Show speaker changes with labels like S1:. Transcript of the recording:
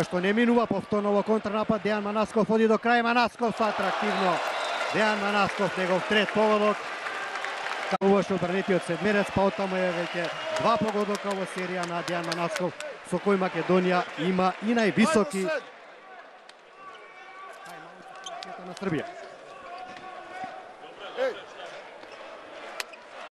S1: Што не минува повторно во контрнапад, Дејан Манасков оди до крај, Манасков со атрактивно. Дејан Манасков, негов трет погодок. Кавуваше одбранетиот седмерец, па оттаму е веќе 2 погодока во серија на Дејан Манасков, со кој Македонија има и највисоки на Србија.